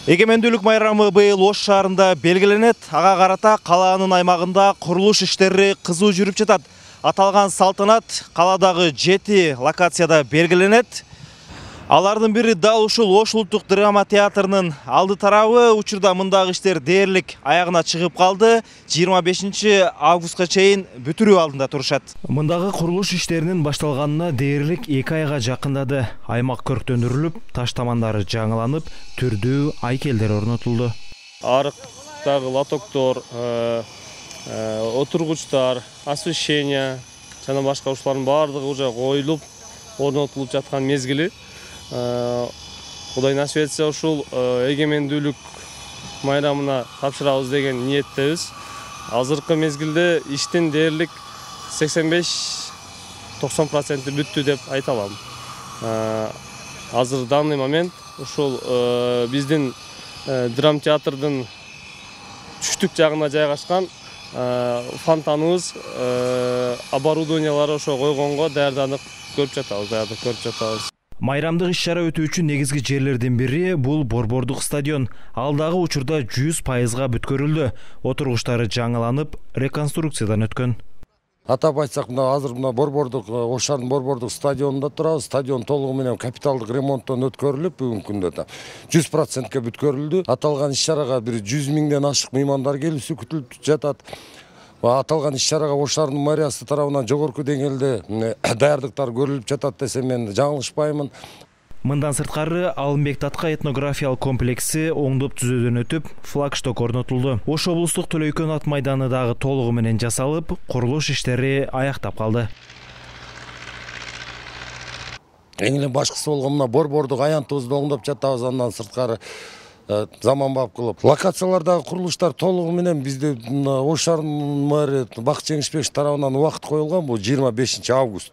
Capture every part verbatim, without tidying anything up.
Эгемендүүлүк майрамы быйыл Ош шаарында белгиленет. Ага карата калаанын аймагында курулуш иштери кызуу жүрүп жатат. Аталган салтанат каладагы жети локацияда белгиленет. Алардын бири дал ушул Ош улуттук драма театрынын алды тарабы. Учурда мындагы иштер дээрлик аягына чыгып калды. жыйырма бешинчи августка чейин бүтүрүү алдында турушат. Мындагы курулуш иштеринин башталганына дээрлик эки айга жакындады. Аймак көрктөндүрүлүп, таш тамандары жаңыланып, түрдүү айкелдер орнотулду. Арыктагы лотоктор, отургучтар, освещение жана башка ушулардын баардыгы уже коюлуп, орнотулуп жаткан мезгили. Кудай насип этсе ушул эгемендүүлүк майрамына тапшырабыз деген ниеттебиз. Азыркы мезгилде иштин дээрлик сексен беш токсон проценти бүттү деп айта алам. Азыр данный момент ушул биздин драм театрдын түштүк жагына жайгашкан фонтаныбыз, оборудованиялары ошо койгонго даярданып көрүп жатабыз, даярдык көрүп жатабыз. Майрамдык иш-чара өтүүчү негизги жерлердин бири бул Борбордук стадион. Ал дагы учурда жүз пайызга бүткөрүлдү. Отургучтары жаңыланып, реконструкциядан өткөн. Атап айтсак, мына азыр мына Борбордук Ош шаарынын Борбордук стадионунда турабыз. Стадион толугу менен капиталдык ремонттон өткөрүлүп, бүгүнкү күндө да жүз процентке бүткөрүлдү. Аталган иш-чарага бир жүз миңден ашык меймандар келүүсү күтүлүп жатат. Аталган иш-чарага Ош шаарынын мэриясы тарабынан жогорку деңгээлде даярдыктар көрүлүп жатат десем мен жаңылышпаймын. Мындан сырткары Алымбек Татка этнографиялык комплекси оңдоп түзөөдөн өтүп, флагшток орнотулду. Ош облустук Төлөйкөн ат майданы дагы толугу менен жасалып, курулуш иштери аяктап калды. Эң эле башкысы болгон мына Борбордук аянтыбызды оңдоп жатабыз, андан сырткары заманбап кылып. Локациялардагы курулуштар толугу менен бизде Ош шаарынын мэрии Бакыт Жеңишбекович тарабынан убакыт коюлган, бул жыйырма бешинчи август.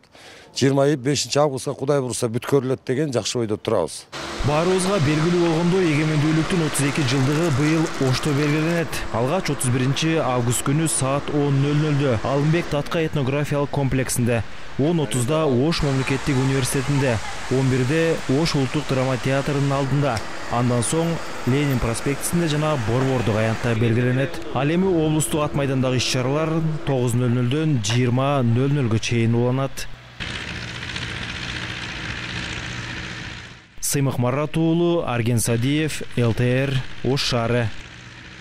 жыйырма бешинчи августка Кудай буйруса бүткөрүлөт деген жакшы ойдо турабыз. Баарыбызга белгилүү болгондой, эгемендүүлүктүн отуз эки жылдыгы быйыл Ошто белгиленет. Алгач отуз биринчи август күнү саат он нөл нөлдө Алымбек Татка этнографиялык комплексинде, он отузда Ош мамлекеттик университетинде, он бирде Ош улуттук драма театрынын алдында, андан соң Ленин проспектисинде жана Борбордук аянтта белгиленет. Ал эми облустук ат майдандагы иш-чаралар тогуз нөл нөлдөн жыйырма нөл нөлгө чейин уланат. Сыймык Марат уулу, Арген Садиев, эл тэ эр, Ош шаары.